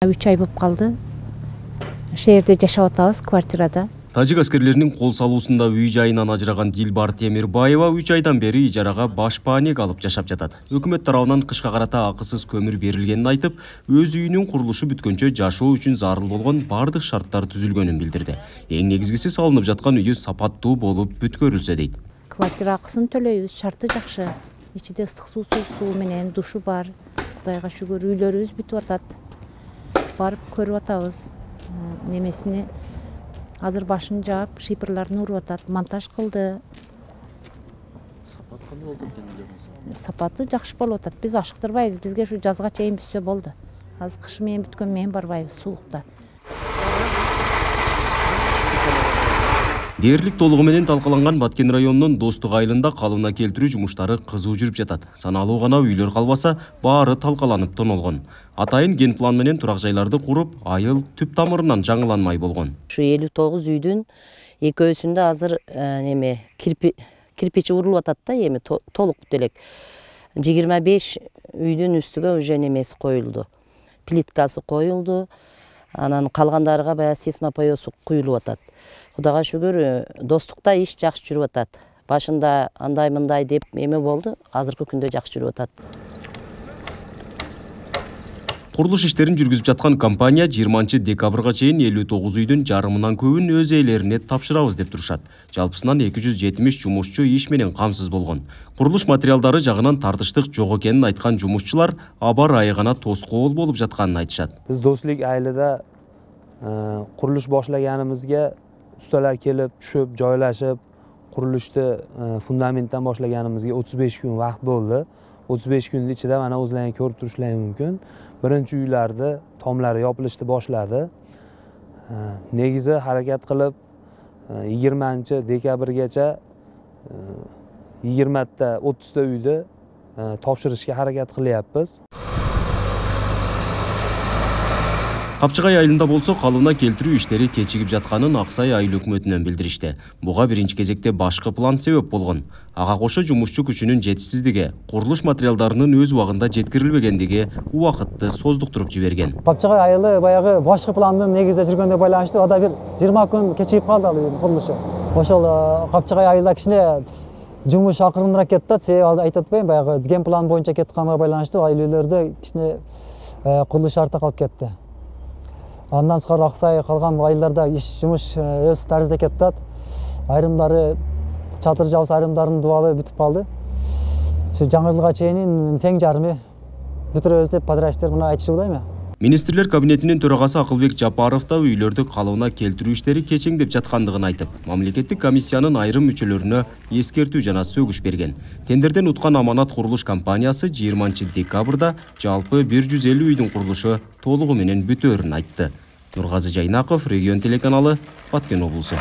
3 ай болуп калды. Шээрде жашап атабыз, квартирада. Тажик аскерлеринин кол салуусунда үй жайынан ажыраган Дилбар Темирбаева 3 айдан бери ижарага башпаанек алып жашап жатат. Өкмөт тарабынан кышка карата акысыз көмүр берилгенин айтып, өз үйүнүн курулушу бүткөнчө жашоо үчүн зарыл болгон бардык шарттар түзүлгөнүн билдирди. Эң негизгиси салынып жаткан үйү сапаттуу болуп бүткөрүлсө дейт. Квартира акысын төлөйбүз, шарты жакшы. Ичинде ыстык суу менен душу бар. Кудайга шүгүр, үйлөрүбүз бүтүп атат. Барып көрүп атабыз. Немесини азыр башын жаап, шипрларын уруп атат, монтаж кылды. Сапат кандай болду экен? Сапаты жакшы болуп атат. Биз ашыктырбайбыз. Бизге ушу жазга чейин бүтсө болду. Азыр кышы менен бүткөн менен барбайбыз суукта. Дээрлик толугу менен талкаланган Баткен районунун Достук айылында калыбына келтирүү жумуштары кызуу жүрүп жатат. Саналуу гана үйлөр калбаса, баары талкаланып тонолгон. Атайын ген план менен турак жайларды куруп, айыл түп тамырынан жаңыланмай болгон. Ушу 59 үйдүн экөөсүндө азыр кирпичи урулуп атат да, эми толук делек. 25 үйдүн үстүгө уже немеси коюлду. Плиткасы коюлду. Анан калгандарга баягы сейсмопоёсу куюлуп атат. Кудайга шүгүр, Достукта иш жакшы жүрүп атат. Башында андай-мындай деп эме болду, азыркы күндө жакшы жүрүп атат. Курулуш иштерин жүргүзүп жаткан компания 20 декабрга чейин 59 үйдүн жарымынан көбүн өз ээлерине тапшырабыз деп турушат. Жалпысынан 270 жумушчу иш менен камсыз болгон. Курулуш материалдары жагынан тартыштык жок экенин айткан жумушчулар аба ырайы гана тоскоол болуп жатканын айтышат. Биз Достук айылында курулуш башлаганыбызга ustalar kelib, tushib, joylashib, qurilishni fundamentdan boshlaganimizga 35 kun vaqt bo'ldi. 35 kunning ichida mana o'zlaringiz ko'rib turishlaringiz mumkin. Birinchi uylarda tomlari yopilishni boshladi. Negizi harakat qilib 20 dekabrgacha 20 ta 30 ta uyni topshirishga harakat qilyapmiz. Капчыгай айылында болсо калыбына келтирүү иштери кечигип жатканын Аксай айыл өкмөтүнөн билдиришти. Буга биринчи кезекте башкы план себеп болгон. Ага кошо жумушчу күчүнүн жетишсиздиги, курулуш материалдарынын өз убагында жеткирилбегендиги убакытты создуктуруп жиберген. Капчыгай айылы баягы башкы пландын негизде жүргөндө байланыштуу ада бир 20 күн кечигип калды ал үйдүн курулушу. Ошол Капчыгай айылда кичине жумуш акырыныраак кетти да, себеби айтып атпайм, баягы ген план боюнча кетканга байланыштуу айыл-үйлөрдө кичине курулуш артта калып кетти. Андан сырткары Аксай калган айылдарда иш жумуш өз тарызда кетти. Айрымдары чатыр жабыс, айрымдардын дубалы бүтүп калды. Ошо жаңы жылга чейин тең жарымы бүтүрөбүз деп подрядчиктер мына айтышыбыда эми. Министрлер кабинетинин төрагасы Акылбек Жапаров да үйлөрдү калыбына келтирүү иштери кечеңдеп жаткандыгын айтып, мамлекеттик комиссиянын айрым мүчөлөрүнө эскертүү жана сөгүш берген. Тендерден уткан Аманат курулуш компаниясы 20 декабрда жалпы 150 үйдүн курулушу толугу менен бүтөөрүн айтты. Нургазы Жайнаков, Регион телеканалы, Баткен облусу.